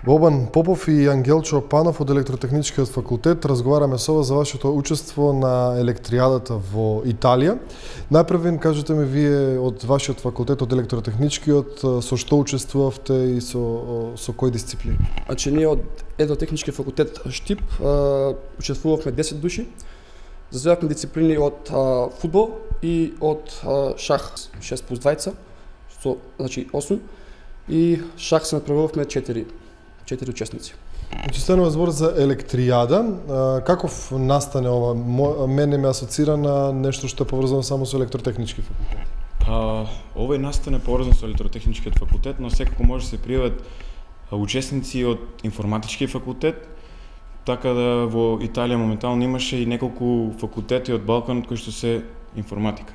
Бобан Попов и Ангелчо Панов од Електротехничкиот факултет разговараме со вас за вашето учество на електријадата во Италија. Најпрв кажете ми вие од вашиот факултет, од Електротехничкиот, со што учествувавте и со кои дисциплини? Значи ние од Електротехничкиот факултет Штип учествувавме 10 души. Заземавме дисциплини од фудбал и од шах 6+2, значи 8, и шах се натпреварувавме 4 учесници. Значи станува збор за електријада. Каков настане ова? Мене ме асоцира на нешто што е поврзано само со електротехнички факултет. Овој настане поврзан со електротехничкиот факултет, но секако може да се пријават учесници од информатички факултет, така да во Италија моментално имаше и неколку факултети од Балканот кои што се информатика.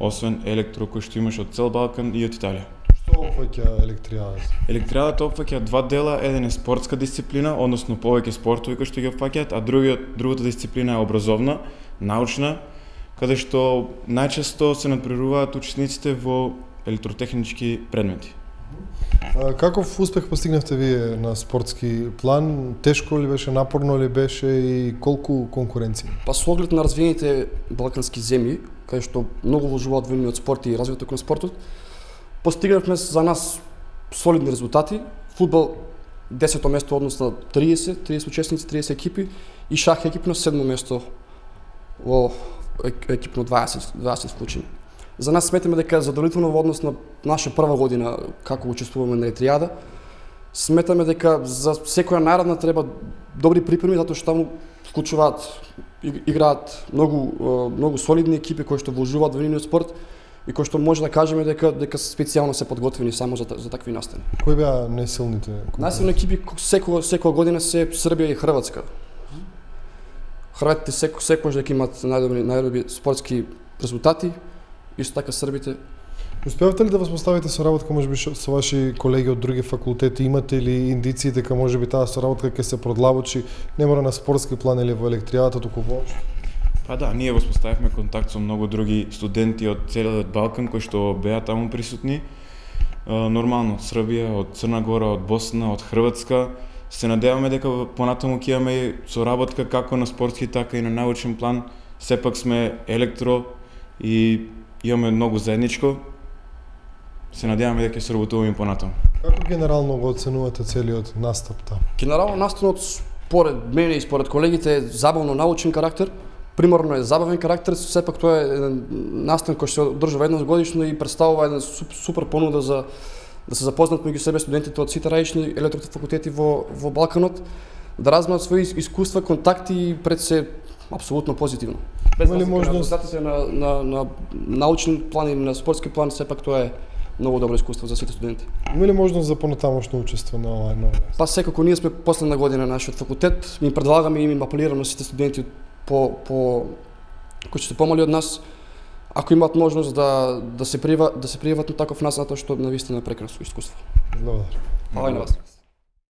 Освен електро кој што имаше од цел Балкан и од Италија. Што опфаќа електријадата? Електријадата опфаќа два дела, еден е спортска дисциплина, односно повеќе спортови кои што ги опфаќаат, а другата дисциплина е образовна, научна, каде што најчесто се надпреваруваат учесниците во електротехнички предмети. Каков успех постигнавте вие на спортски план? Тешко ли беше, напорно ли беше и колку конкуренција? Па со оглед на развиените балкански земји, каде што многу вложуваат во нивниот спорт и развитото кон спортот, постигнавме за нас солидни резултати. Фудбал 10-то место однос на 30 учесници, 30 екипи, и шах екипно 7-то место во екипно 20 вклучени. За нас сметаме дека е задоволително во однос на наша прва година како учествуваме на електријада. Сметаме дека за секоја наредна треба добри припреми, затоа што таму вклучуваат, играат многу солидни екипи кои што вложуваат во нивниот спорт и кои што може да кажеме дека специјално се подготвени само за такви настани. Кои беа најсилните? Најсилни екипи секоја година се Србија и Хрватска. Хрватите секогаш дека имаат најдобри спортски резултати, исто така србите. Успеавте ли да воспоставите соработка можеби со ваши колеги од други факултети? Имате ли индиции дека можеби таа соработка ќе се продлабочи не мора на спортски план или во електријадата, туку воопшто? Па да, ние воспоставивме контакт со многу други студенти од целиот Балкан кои што беа таму присутни. Нормално од Србија, од Црна Гора, од Босна, од Хрватска. Се надеваме дека понатаму ќе имаме соработка како на спортски, така и на научен план. Сепак сме електро и имаме многу заедничко. Се надеваме дека ќе соработуваме понатаму. Како генерално го оценувате целиот настап таму? Генерално настанот според мене и според колегите е забавно научен карактер. Примерно е забавен карактер, сепак тоа е еден настан кој се одржува еднаш годишно и представува една супер понуда за да се запознаат меѓу себе студентите од сите различни електрофакултети во Балканот, да разменат свои искуства, контакти и пред се апсолутно позитивно. Без разлика на резултатите на научен план и на спортски план, сепак тоа е многу добро искуство за сите студенти. Има ли можност за понатамошно учество на оваа нова? Па секако ние сме последна година на нашиот факултет, ми предлагаме и им апелираме сите студенти кои се помали од нас, ако имаат можност да се пријават на таков настан, затоа што навистина е прекрасно искуство. Благодарам. Фала и на вас.